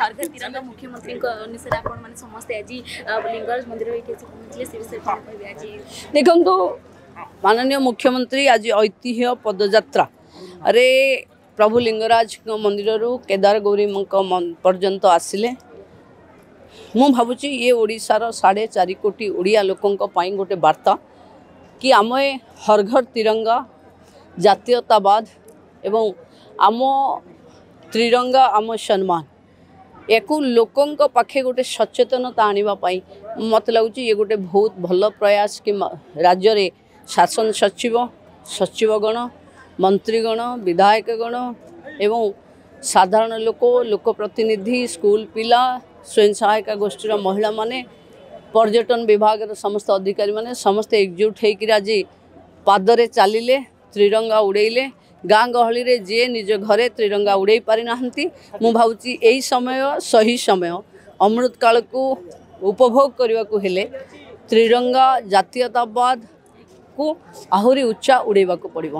ହର ଘର ତିରଙ୍ଗା ମୁଖ୍ୟମନ୍ତ୍ରୀଙ୍କ ଅନୁସାରେ ଆପଣମାନେ ସମସ୍ତେ ଆଜି ଲିଙ୍ଗରାଜ ମନ୍ଦିର ଏଇଠି ଆସି ପହଞ୍ଚିଲେ, ସେ ବିଷୟରେ କ'ଣ କହିବେ ଆଜି? ଦେଖନ୍ତୁ, ମାନନୀୟ ମୁଖ୍ୟମନ୍ତ୍ରୀ ଆଜି ଐତିହ୍ୟ ପଦଯାତ୍ରାରେ ପ୍ରଭୁ ଲିଙ୍ଗରାଜଙ୍କ ମନ୍ଦିରରୁ କେଦାର ଗୌରୀଙ୍କ ପର୍ଯ୍ୟନ୍ତ ଆସିଲେ। ମୁଁ ଭାବୁଛି ଇଏ ଓଡ଼ିଶାର 4.5 କୋଟି ଓଡ଼ିଆ ଲୋକଙ୍କ ପାଇଁ ଗୋଟେ ବାର୍ତ୍ତା କି ଆମେ ହର ଘର ତିରଙ୍ଗା, ଜାତୀୟତାବାଦ ଏବଂ ଆମ ତ୍ରିରଙ୍ଗା ଆମ ସମ୍ମାନ, ୟାକୁ ଲୋକଙ୍କ ପାଖେ ଗୋଟେ ସଚେତନତା ଆଣିବା ପାଇଁ ମୋତେ ଲାଗୁଛି ଇଏ ଗୋଟେ ବହୁତ ଭଲ ପ୍ରୟାସ କି ରାଜ୍ୟରେ ଶାସନ ସଚିବ, ସଚିବଗଣ, ମନ୍ତ୍ରୀଗଣ, ବିଧାୟକଗଣ ଏବଂ ସାଧାରଣ ଲୋକ, ଲୋକପ୍ରତିନିଧି, ସ୍କୁଲ ପିଲା, ସ୍ୱୟଂ ସହାୟିକା ଗୋଷ୍ଠୀର ମହିଳାମାନେ, ପର୍ଯ୍ୟଟନ ବିଭାଗର ସମସ୍ତ ଅଧିକାରୀମାନେ ସମସ୍ତେ ଏକଜୁଟ ହେଇକିରି ଆଜି ପାଦରେ ଚାଲିଲେ, ତ୍ରିରଙ୍ଗା ଉଡ଼େଇଲେ। ଗାଁ ଗହଳିରେ ଯିଏ ନିଜ ଘରେ ତ୍ରିରଙ୍ଗା ଉଡ଼େଇ ପାରିନାହାନ୍ତି, ମୁଁ ଭାବୁଛି ଏଇ ସମୟ ସହି ସମୟ, ଅମୃତ କାଳକୁ ଉପଭୋଗ କରିବାକୁ ହେଲେ ତ୍ରିରଙ୍ଗା ଜାତୀୟତାବାଦକୁ ଆହୁରି ଉଚ୍ଚା ଉଡ଼େଇବାକୁ ପଡ଼ିବ।